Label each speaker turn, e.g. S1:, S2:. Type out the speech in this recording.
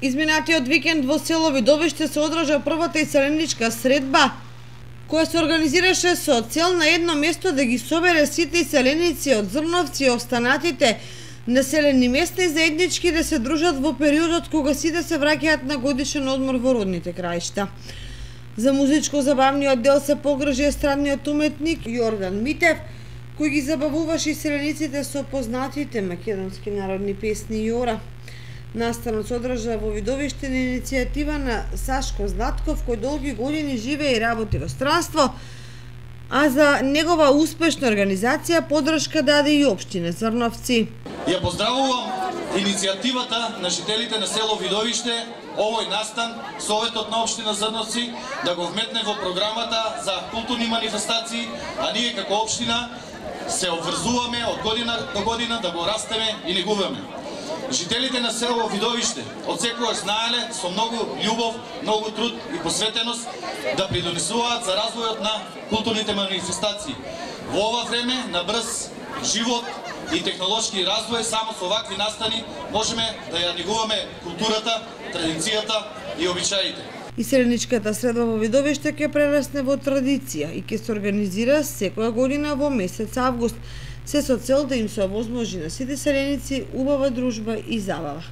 S1: Изминатиот викенд во село Видовиште се одржа првата иселеничка средба, која се организираше со цел на едно место да ги собере сите иселеници од Зрновци и останатите населени места и заеднички да се дружат во периодот кога сите се враќаат на годишен одмор во родните краишта. За музичко-забавниот дел се погрижи естрадниот уметник Јордан Митев, кој ги забавуваше иселениците со познатите македонски народни песни и ора. Настанот се одржа во Видовиште на иницијатива на Сашко Златков, кој долги години живее и работи во странство, а за негова успешна организација поддршка даде и општина Зрновци.
S2: Ја поздравувам иницијативата на жителите на село Видовиште, овој настан, Советот на општина Зрновци, да го вметне во програмата за културни манифестации, а ние како општина се обврзуваме од година до година да го растеме и негуваме. Жителите на село Видовиште од секогаш знаеле со многу љубов, многу труд и посветеност да придонесуваат за развојот на културните манифестации. Во ова време на брз живот и технолошки развој, само со вакви настани можеме да ја негуваме културата, традицијата и обичаите.
S1: Иселеничката средба во Видовиште ќе прерасне во традиција и ќе се организира секоја година во месец август, се со цел да им се овозможи на сите селеници убава дружба и забава.